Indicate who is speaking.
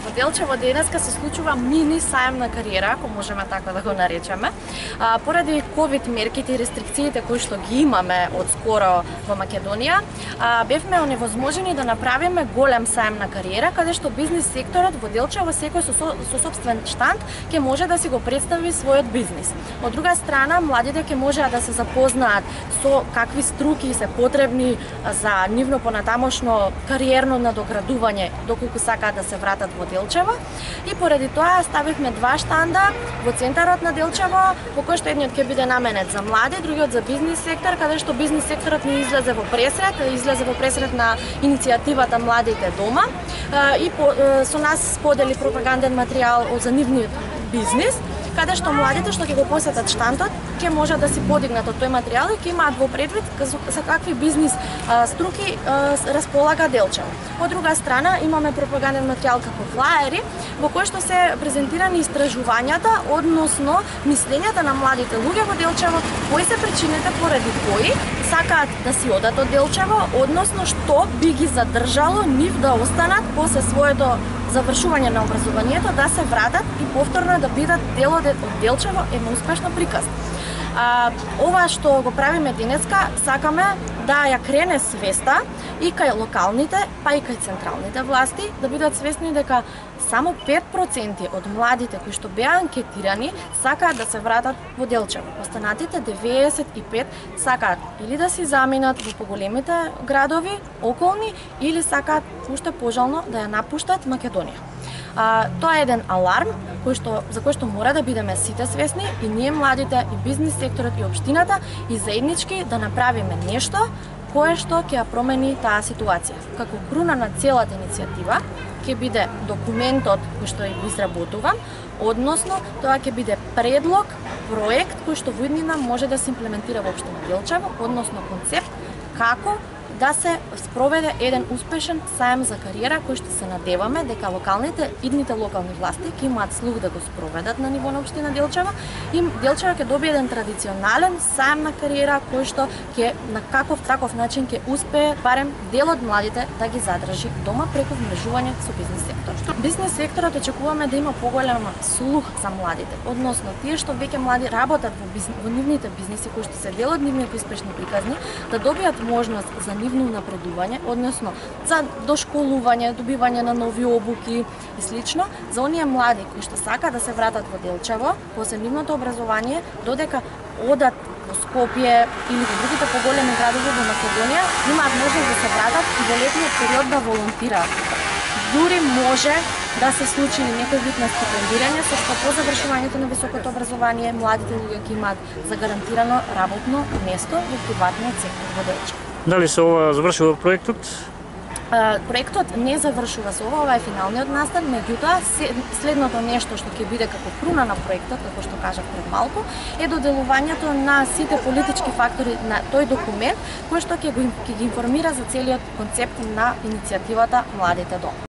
Speaker 1: Во Делчево денеска се случува мини сајм на кариера, ако можеме така да го наречеме. Поради ковид мерките и рестрикциите кои што ги имаме од скоро во Македонија, бевме оневозможени да направиме голем сајм на кариера, каде што бизнис секторот во Делчево секој со сопствен штанд ќе може да си го представи својот бизнис. Од друга страна, младите ќе можеат да се запознаат со какви струки се потребни за нивно понатамошно кариерно надоградување доколку сакаат да се вратат во Делчево. И поради тоа ставивме два штанда во центарот на Делчево, во кој што едниот ќе биде наменет за млади, другиот за бизнис сектор, каде што бизнис секторот ни излезе во пресрет на иницијативата Младите дома и со нас сподели пропаганден материјал за нивниот бизнис, каде што младите што ќе го посетат штандот ќе можат да си подигнат од тој материјал и ќе имаат во предвид за какви бизнис струки располага Делчево. Од друга страна имаме пропаганден материјал како флаери во кој што се презентирани истражувањата односно мислењата на младите луѓе во Делчево, кои се причините поради кои сакаат да си одат од Делчево, односно што би ги задржало нив да останат после своето завршување на образованието, да се вратат и повторно да бидат дел од Делчево една успешна приказна. Ова што го правиме денеска, сакаме да ја крене свеста и кај локалните, па и кај централните власти, да бидат свесни дека само 5% од младите кои што беа анкетирани сакаат да се вратат во Делчево. Останатите 95 сакаат или да си заминат во поголемите градови околни или сакаат уште пожално да ја напуштат Македонија. Тоа е еден аларм за кој што мора да бидеме сите свесни и ние младите, и бизнис секторот, и општината, и заеднички да направиме нешто кое што ќе ја промени таа ситуација. Како круна на целата иницијатива ќе биде документот кој што ја изработувам, односно тоа ќе биде предлог, проект кој што во иднина може да се имплементира во општина Делчево, односно концепт како да се спроведе еден успешен сајм за кариера кој што се надеваме дека идните локални власти ќе имаат слух да го спроведат на ниво на општина Делчево и Делчево ќе добие еден традиционален сајм на кариера кој што ќе на каков таков начин ќе успее барем дел од младите да ги задржи дома преку вмрежување со бизнис секторот. Бизнис секторот очекуваме да има поголем слух за младите, односно тие што веќе млади работат во нивните бизниси кои што се дел од нивните успешни приказни, да добијат можност за нивно напредување, односно за дошколување, добивање на нови обуки и слично, за оние млади кои што сакаат да се вратат во Делчево после нивното образование, додека одат во Скопје или во другите поголеми градови во Македонија, имаат можност да се вратат и во летниот период да волонтираат. Дури може да се случи некој вид на стипендирање, со што по завршувањето на високото образование младите луѓе ќе имаат загарантирано работно место во приватниот сектор во Делчево.
Speaker 2: Дали се ова завршува проектот?
Speaker 1: Проектот не завршува со ова е финалниот настан, меѓутоа следното нешто што ќе биде како круна на проектот, како што кажав пред малку, е доделувањето на сите политички фактори на тој документ кој што ќе ги информира за целиот концепт на иницијативата Младите дома.